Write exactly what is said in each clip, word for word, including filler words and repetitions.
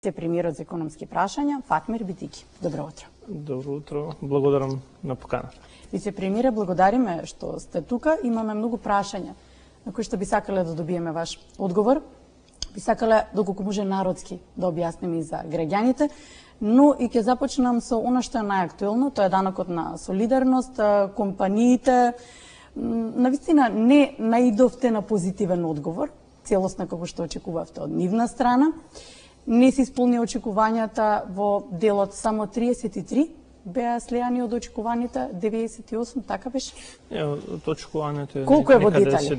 вице-премиерот за економски прашања Фатмир Битики. Добро утро. Добро утро, благодарам на поканата. Вице-премиере, благодариме што сте тука. Имаме многу прашања на кои што би сакале да добиеме ваш одговор. Би сакале доколку може народски да објасниме и за граѓаните, но и ќе започнам со она што е најактуелно, тоа е данокот на солидарност. Компаниите навистина не наидовте на позитивен одговор, целосно како што очекувавте од нивна страна. Не се исполни очекувањата во делот, само триесет и три беа слеани од очекуваните, деветдесет и осум, така беше? Не, од очекувањето е колку е во детали?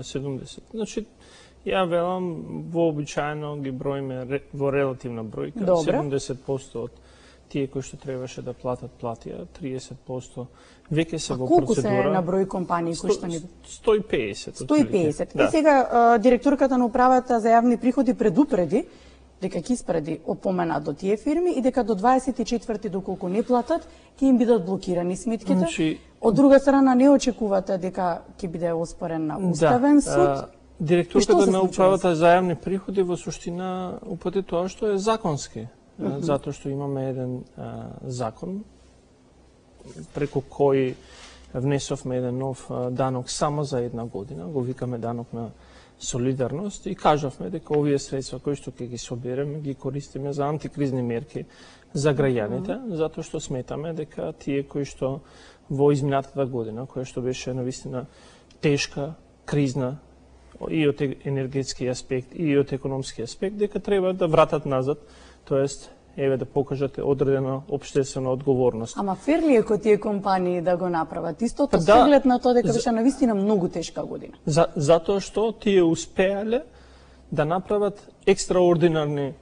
седумдесет. Значи, ја велам, вообичаено ги броиме во релативна бројка. Добре. седумдесет проценти од тие кои што требаше да платат, платија. триесет проценти веќе се во процедура. Колку се на број компании кои што ни... сто и песет. сто и песет. Да. И сега, директорката на управата за јавни приходи предупреди дека ќе испреди опомена до тие фирми и дека до дваесет и четврти доколку не платат, ќе им бидат блокирани сметките. Значи... Од друга страна, не очекувате дека ќе биде оспорен на Уставен да, суд. А, директорката на управата за јавни приходи во суштина упати тоа што е законски. Mm -hmm. Затоа што имаме еден а, закон преку кој внесовме еден нов а, данок само за една година, го викаме данок на солидарност и кажавме дека овие средства кои што ќе ги собереме, ги користиме за антикризни мерки за граѓаните, mm -hmm. затоа што сметаме дека тие кои што во изминатата година, која што беше навистина тешка, кризна, и од енергетски аспект, и од економски аспект, дека треба да вратат назад, тоест, еве да покажат одредена општествена одговорност. Ама фер ли е кој тие компании да го направат? Истото да, со оглед на тоа дека беше навистина многу тешка година. За, затоа што тие успеале да направат екстраординарни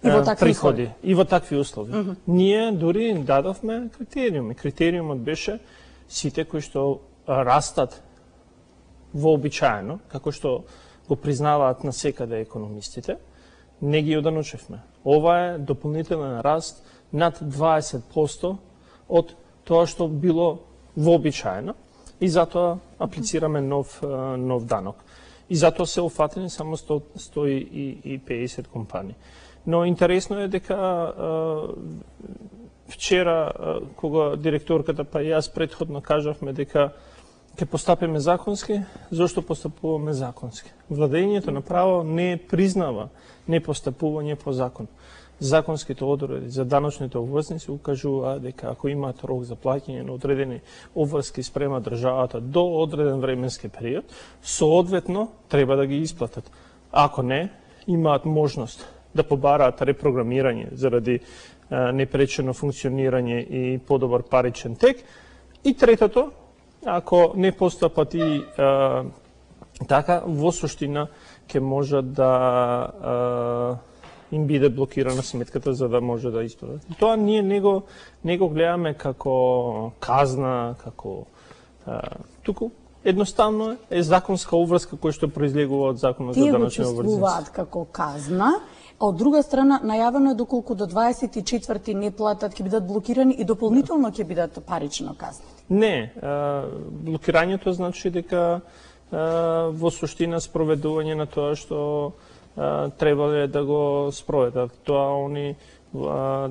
и во такви приходи услови. И во такви услови. Mm -hmm. Ние дури им дадовме критериуми. Критериумот беше сите кои што растат вообичаено, како што го признаваат насекаде економистите, не ги оданучевме. Ова е дополнителен раст над дваесет проценти од тоа што било вообичаено и затоа аплицираме нов, нов данок. И затоа се офатени само сто и песет компании. Но интересно е дека вчера, кога директорката па и јас претходно кажавме дека ќе постапиме законски, зошто постапуваме законски? Владењето на право не признава непостапување по закон. Законските одредби за даночните обврзници укажуваат дека ако имаат рок за плаќање на одредени обврски спрема државата до одреден временски период, соодветно треба да ги исплатат. Ако не, имаат можност да побараат репрограмирање заради а, непречено функционирање и подобар паричен тек. И третото, ако не постапат и а, така, во суштина ќе може да а, им биде блокирана сметката за да може да исплатат. Тоа ние не го, не го гледаме како казна, како а, туку едноставно е, е законска обврска која што произлегува од законот за даночни обврзници. Тие го чувствуваат како казна, а од друга страна најавено е доколку до дваесет и четврти не платат ќе бидат блокирани и дополнително ќе бидат парично казни. Не, а, блокирањето значи дека а, во суштина спроведување на тоа што а, требале да го спроведат. Тоа они а,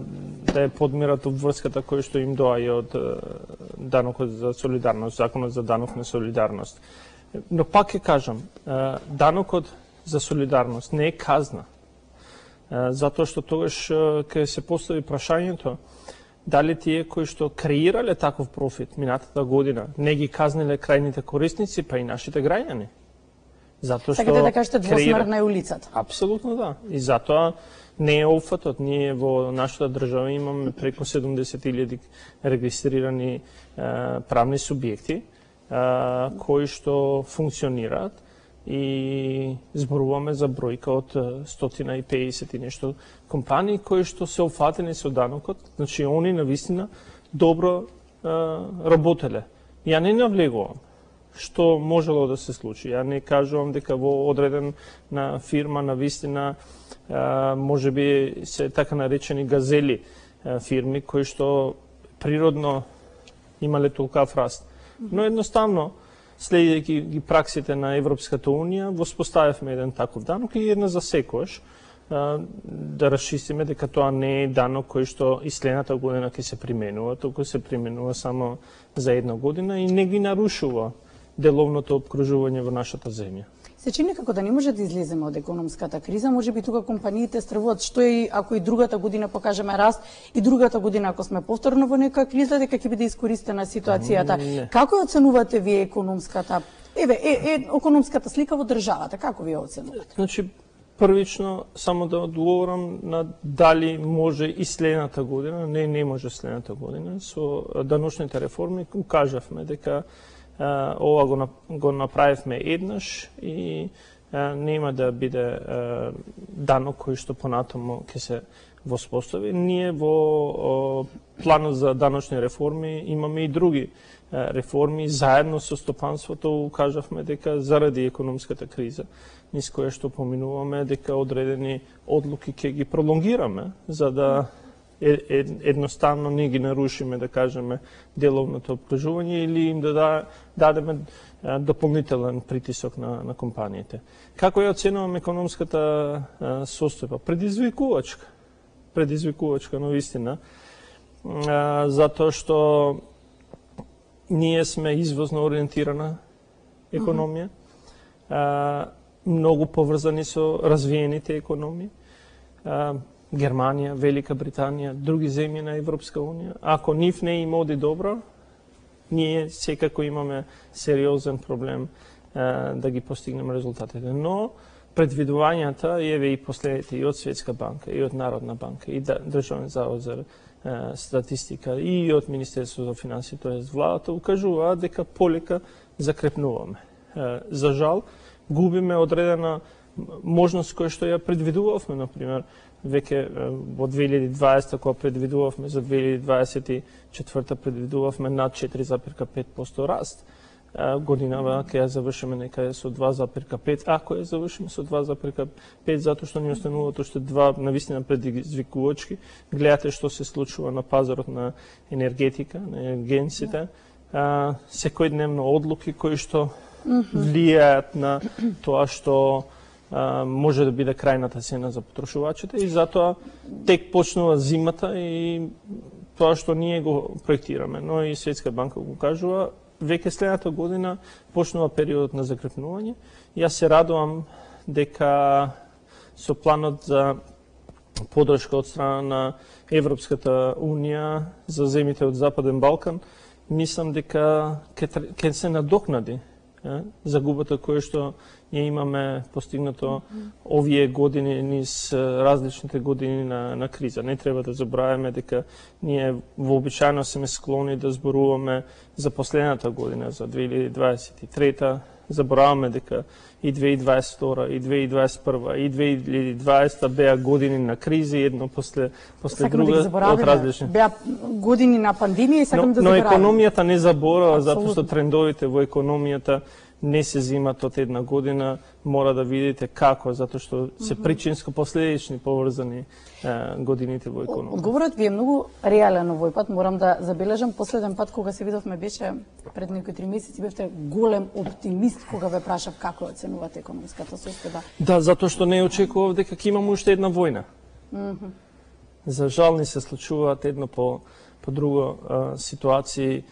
да ја подмират обврската која што им доаѓа од а, данокот за солидарност, законот за данок на солидарност. Но пак ќе кажам, а, данокот за солидарност не е казна. А, затоа што тогаш ќе се постави прашањето дали тие кои што креирале таков профит минатата година не ги казниле крајните корисници, па и нашите граѓани. Затоа што Сакате да кажете двосмерна креира... е улицата. Апсолутно да. И затоа не е опфатот. Ние во нашата држава имаме преку седумдесет илјади регистрирани е, правни субјекти е, кои што функционираат и зборуваме за бројка од сто и песет и нешто компании кои што се офатени со данокот, значи они навистина добро е, работеле. Ја не навлегувам што можело да се случи. Ја не кажувам дека во одреден на фирма навистина може би се така наречени газели е, фирми кои што природно имале толкав раст. Но едноставно следејќи ги праксите на Европската унија, воспоставивме еден таков данок и една за секојаш да расчистиме дека тоа не е данок кој што и следната година ќе се применува, туку се применува само за една година и не ги нарушува деловното обкружување во нашата земја. Се чини како да не може да излеземе од економската криза, може би тука компаниите стравуваат што и ако и другата година покажеме раст и другата година ако сме повторно во нека криза дека ќе биде искористена ситуацијата. Не. Како ја оценувате вие економската еве е, е економската слика во државата, како вие оценувате? Значи првично само да одговорам на дали може и следната година, не не може следната година со даночните реформи кажавме дека Uh, ова го, го направивме еднаш и uh, нема да биде uh, данок кој што понатаму ќе се воспостави. Ние во uh, планот за даночни реформи имаме и други uh, реформи. Заедно со стопанството кажавме дека заради економската криза, низ која што поминуваме, дека одредени одлуки ќе ги пролонгираме, за да едноставно не ги нарушиме, да кажеме, деловното обкружување или им да дадеме дополнителен притисок на, на компаниите. Како ја оценувам економската состојба? Предизвикувачка. Предизвикувачка, но вистина. Затоа што ние сме извозно ориентирана економија, многу поврзани со развиените економии. Германија, Велика Британија, други земји на Европска Унија. Ако нив не им оди добро, ние секако имаме сериозен проблем а, да ги постигнеме резултатите. Но предвидувањата, еве и последните и од Светска банка, и од Народна банка, и Државен завод за а, статистика, и од Министерството за финансии, тоест владата, укажуваат дека полека закрепнуваме. А, за жал, губиме одредена можност која што ја предвидувавме, например, веќе во две илјади и дваесета, кога предвидувавме за две илјади дваесет и четврта, предвидувавме над четири запирка пет проценти раст. Годинава ќе ја завршиме некаде со два запирка пет, ако ја завршиме со два запирка пет, затоа што ни остануваат уште два навистина предизвикувачки. Гледате што се случува на пазарот на енергетика, на енергенците, секојдневно одлуки кои што влијаат на тоа што може да биде крајната цена за потрошувачите и затоа тек почнува зимата и тоа што ние го проектираме, но и Светска банка го кажува, веќе следната година почнува периодот на закрепнување. Јас се радувам дека со планот за подршка од страна на Европската Унија за земјите од Западен Балкан, мислам дека ќе се надокнади загубата која што ние имаме постигнато овие години низ различните години на, на криза. Не треба да забравяме дека ние вообичаено сме склони да зборуваме за последната година, за две илјади дваесет и трета. Забораваме дека и две илјади дваесет и втора, и две илјади дваесет и прва, и две илјади дваесета беа години на кризи, едно после, после друга да од различни. Беа години на пандемија и сакам но, да но забораваме. Но економијата не заборава, затоа што трендовите во економијата не се зимат од една година, мора да видите како, затоа што се причинско-последични поврзани е, годините во економија. Одговорот ви е многу реален овој пат, морам да забележам. Последен пат кога се видовме беше пред некои три месеци, бевте голем оптимист кога ве прашав како оценувате економската состојба. Да, затоа што не очекував дека ќе имаме уште една војна. Mm -hmm. За жал ни се случуваат едно по, по друго а, ситуации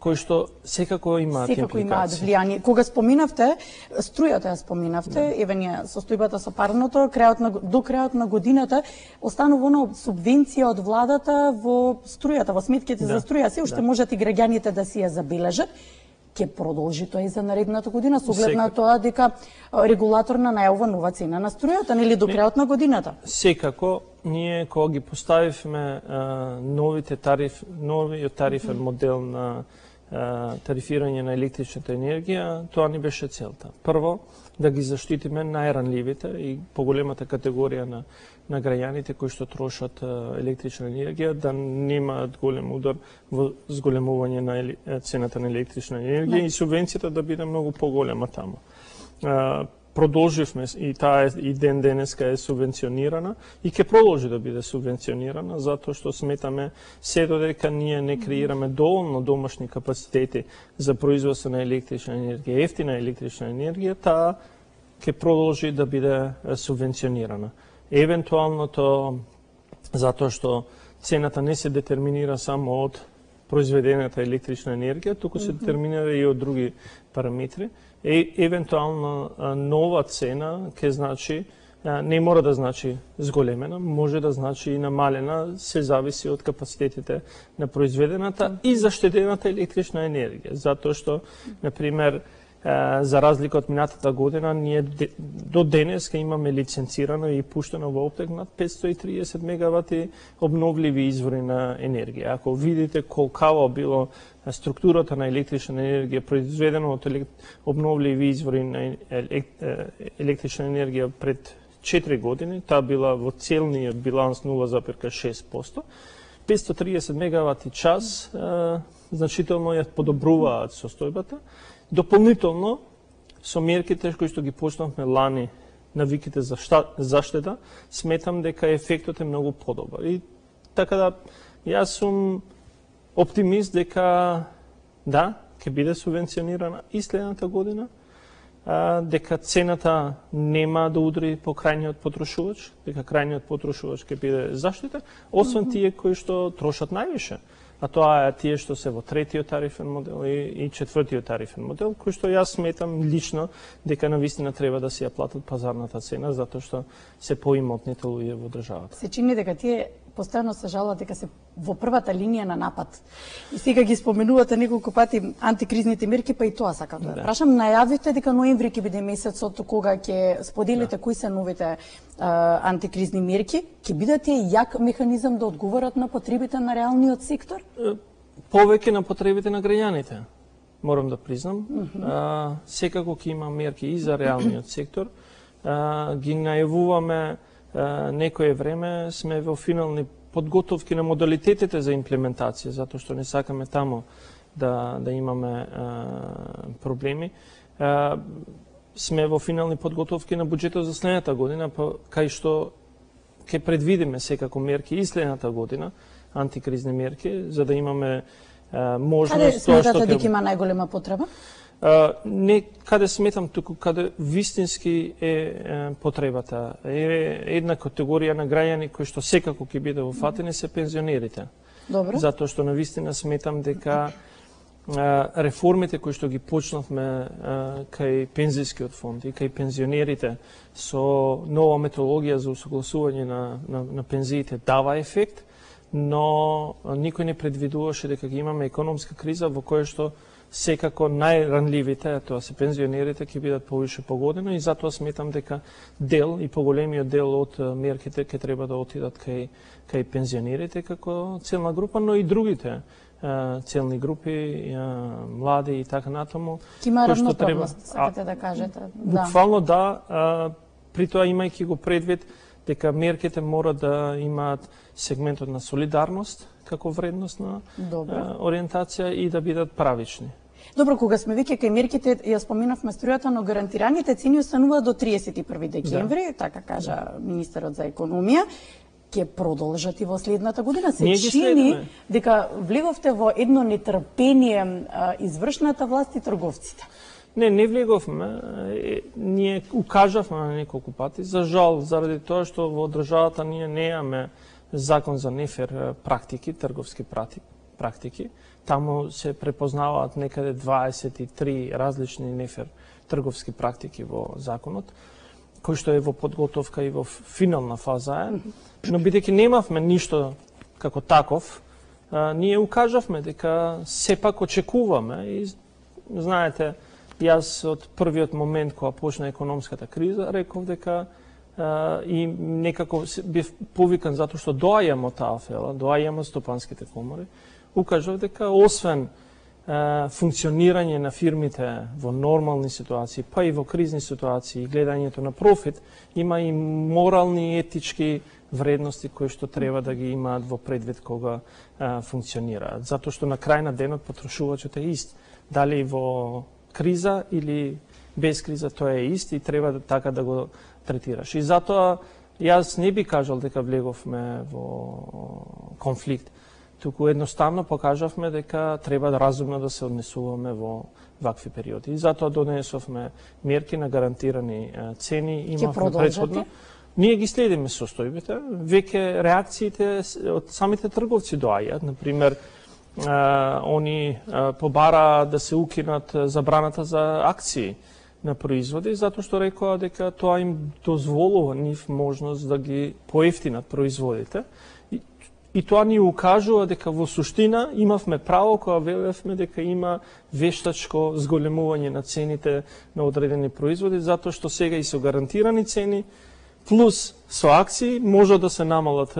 кои што секако имаат секако импликации. имаат влијание. Кога споминавте, струјата ја споминавте, да. Еве ние состојбата со парното, крајот на, до крајот на годината, останува она субвенција од владата во струјата, во сметките да. за струја, се уште да. можат и граѓаните да си ја забележат. Ќе продолжи тоа и за наредната година, со оглед на тоа дека регулаторна најавува нова цена на струјата, нели до крајот на годината? Секако, ние кога ги поставивме а, новите тариф, новиот тарифен модел на тарифирање на електричната енергија, тоа ни беше целта. Прво, да ги заштитиме најранливите и поголемата категорија на, на граѓаните кои што трошат електрична енергија, да немаат голем удар во зголемување на цената на електрична енергија не. И субвенцијата да биде многу поголема таму. Продолживме и таа и ден денеска е субвенционирана и ќе продолжи да биде субвенционирана затоа што сметаме се додека ние не креираме доволно домашни капацитети за производство на електрична енергија, ефтина електрична енергија, таа ќе продолжи да биде субвенционирана. евентуалното, затоа што цената не се детерминира само од произведената електрична енергија, туку се детерминира и од други параметри. Е, евентуално нова цена ќе значи, не мора да значи зголемена, може да значи и намалена, се зависи од капацитетите на произведената и заштедената електрична енергија. Затоа што, например, за разлика од минатата година, ние до денес имаме лиценцирано и пуштено во оптек над петстотини и триесет мегавати обновливи извори на енергија. Ако видите колкава било структурата на електрична енергија произведена од обновливи извори на електрична енергија пред четири години, таа била во целниот биланс нула зарез шест проценти, петстотини и триесет мегавати час значително ја подобруваат состојбата. Дополнително, со мерките кои што ги почнавме лани, навиките за заштеда, сметам дека ефектот е многу подобар. И така да, јас сум оптимист дека да, ќе биде субвенционирана и следната година, а, дека цената нема да удри по крајниот потрошувач, дека крајниот потрошувач ќе биде заштитен, освен тие кои што трошат највише. А тоа е тие што се во третиот тарифен модел и, и четвртиот тарифен модел, кој што јас сметам лично дека навистина треба да се ја платат пазарната цена, затоа што се поимотните луѓе во државата. Се чини дека тие постојано се жалат дека се во првата линија на напад. И сега ги споменувате неколку пати антикризните мерки, па и тоа сакам да, да. прашам. Најавивте дека ноември ќе биде месецот кога ќе споделите да. кои се новите а, антикризни мерки. Ќе бидат тие јак механизам да одговорат на потребите на реалниот сектор? Повеќе на потребите на граѓаните, морам да признам. Mm -hmm. а, секако ќе има мерки и за реалниот сектор. А, ги најавуваме а, некое време, сме во финални подготовки на модалитетите за имплементација, затоа што не сакаме тамо да, да имаме а, проблеми. А, сме во финални подготовки на буџетот за следната година, па, кај што ќе предвидиме секако мерки и следната година, антикризни мерки, за да имаме а, можност... Каде сметате дека има најголема потреба? А, не каде сметам, туку каде вистински е, е потребата. Е една категорија на граѓани кои што секако ќе биде уфатени се пензионерите. Добро. Затоа што навистина сметам дека а, реформите кои што ги почнавме а, кај пензискиот фонд и кај пензионерите со нова методологија за усогласување на, на, на пензиите дава ефект, но никој не предвидуваше дека ќе имаме економска криза во која што секако најранливите, тоа се пензионерите, ќе бидат повише погодено и затоа сметам дека дел и поголемиот дел од мерките ќе треба да отидат кај, кај пензионерите како целна група, но и другите целни групи, млади и така натаму. Ке има равноправност, сакате да кажете. Буквално да, а, при тоа имајќи го предвид дека мерките мора да имаат сегментот на солидарност како вредностна а, ориентација и да бидат правични. Добро, кога сме веќе кај мерките, ја споменавме струјата, но гарантираните цени остануваат до триесет и први декември, да. така кажа да. министерот за економија. Ќе продолжат и во следната година. Се чини дека влеговте во едно нетрпение а, извршната власт и трговците. Не, не влеговме. Ние укажавме на неколку пати. За жал, заради тоа што во државата ние неаме закон за нефер практики, трговски практики. Таму се препознаваат некаде дваесет и три различни нефер трговски практики во законот, кој што е во подготовка и во финална фаза е. Но бидејќи немавме ништо како таков, а, ние укажавме дека сепак очекуваме и знаете, јас од првиот момент кога почна економската криза реков дека а, и некако бев повикан затоа што доаѓам од таа фела, доаѓам од стопанските комори, укажав дека освен а, функционирање на фирмите во нормални ситуации, па и во кризни ситуации, гледањето на профит, има и морални и етички вредности кои што треба да ги имаат во предвид кога а, функционираат. Затоа што на крај на денот потрошувачот е ист. Дали во криза или без криза, тоа е ист и треба да, така да го третираш. И затоа јас не би кажал дека влеговме во конфликт, туку едноставно покажавме дека треба да разумно да се однесуваме во вакви периоди. И затоа донесовме мерки на гарантирани цени, имавме претходно. Ние ги следиме состојбите, веќе реакциите од самите трговци доаѓаат, например, а, они а, побара да се укинат забраната за акции на производи, затоа што рекоа дека тоа им дозволува нив можност да ги поевтинат производите. И, и тоа ни укажува дека во суштина имавме право кога велевме дека има вештачко зголемување на цените на одредени производи, затоа што сега и со гарантирани цени, плюс со акции може да се намалат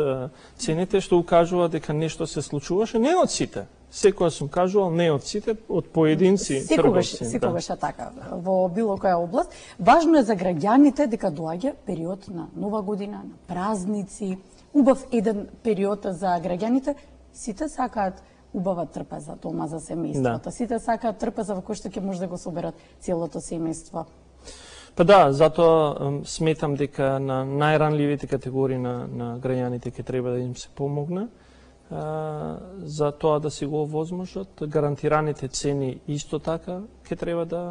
цените, што укажува дека нешто се случуваше, не од сите. Секоја сум кажувал, не од сите, од поединци секогаш, трговци. Секогаш е така, во било која област. Важно е за граѓаните дека доаѓа период на нова година, на празници, убав еден период за граѓаните. Сите сакаат убава трпеза дома за семејството. Да. Сите сакаат трпеза во кој што ќе може да го соберат целото семејство. Па да, затоа сметам дека на најранливите категории на, на граѓаните ќе треба да им се помогне за тоа да си го овозможат. Гарантираните цени исто така ќе треба да,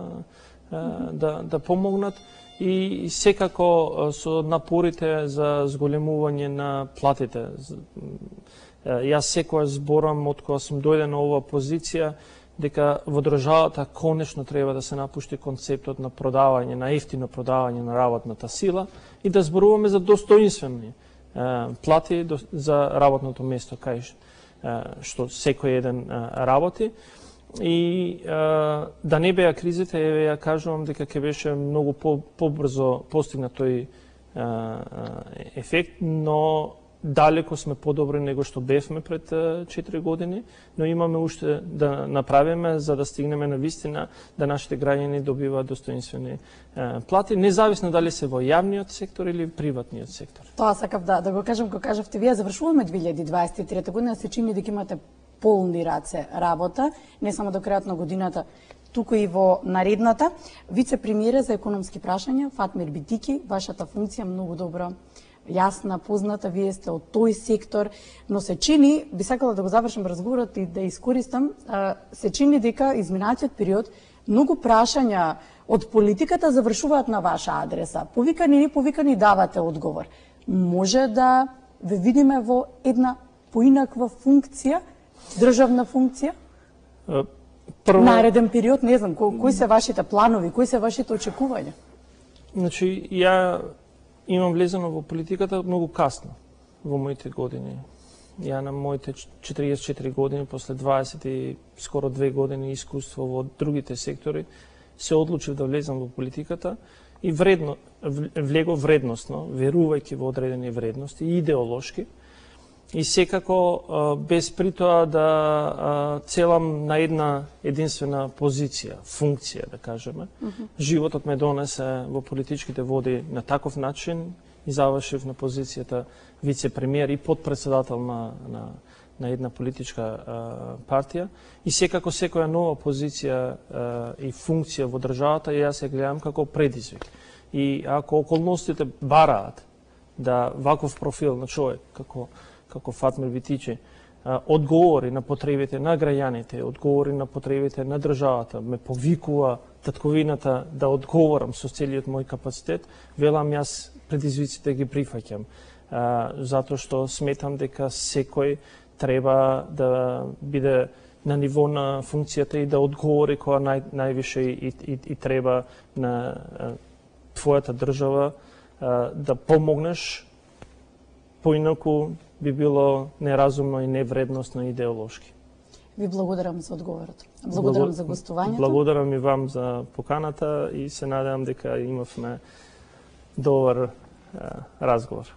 да, да помогнат и секако со напорите за зголемување на платите. Јас секојаш зборам од кога сум дојде на оваа позиција дека во државата конечно треба да се напушти концептот на продавање, на ефтино продавање на работната сила и да зборуваме за достоинствени плати за работното место кај што секој еден работи. И да не беа кризите, еве ја кажувам дека ќе беше многу побрзо постигнат тој ефект, но далеко сме подобри него што бевме пред четири години, но имаме уште да направиме за да стигнеме на вистина да нашите граѓани добиваат достоинствени плати, независно дали се во јавниот сектор или приватниот сектор. Тоа сакав да, да го кажам, кога кажавте вие, завршуваме две илјади дваесет и трета година, се чини дека имате полни раце работа, не само до крајот на годината, туку и во наредната. Вице-премиер за економски прашања, Фатмир Битики, вашата функција многу добро јасна, позната, вие сте од тој сектор, но се чини, би сакала да го завршам разговорот и да искористам, се чини дека изминатиот период многу прашања од политиката завршуваат на ваша адреса. Повикани или повикани давате одговор. Може да ве видиме во една поинаква функција, државна функција? Прво... Нареден период, не знам, ко, кои се вашите планови, кои се вашите очекувања? Значи, ја имам влезено во политиката многу касно во моите години. Ја на моите четириесет и четири години, после дваесет и скоро две години искуство во другите сектори, се одлучив да влезам во политиката и вредно, влегов вредностно, верувајќи во одредени вредности и идеолошки, и секако без при тоа да целам на една единствена позиција, функција, да кажеме. Mm-hmm. Животот ме донесе во политичките води на таков начин и завршив на позицијата вице-премиер и подпредседател на, на, на една политичка а, партија. И секако секоја нова позиција а, и функција во државата јас ја гледам како предизвик. И ако околностите бараат да ваков профил на човек, како како Фатмир Битичи, одговори на потребите на граѓаните, одговори на потребите на државата, ме повикува татковината да одговорам со целиот мој капацитет, велам јас предизвиците ги прифаќам, затоа што сметам дека секој треба да биде на ниво на функцијата и да одговори која нај, највише и, и, и треба на твојата држава да помогнеш, поинаку би било неразумно и невредностно идеолошки. Ви благодарам за одговорот. Благодарам Благо... за гостувањето. Благодарам и вам за поканата и се надевам дека имавме добар разговор.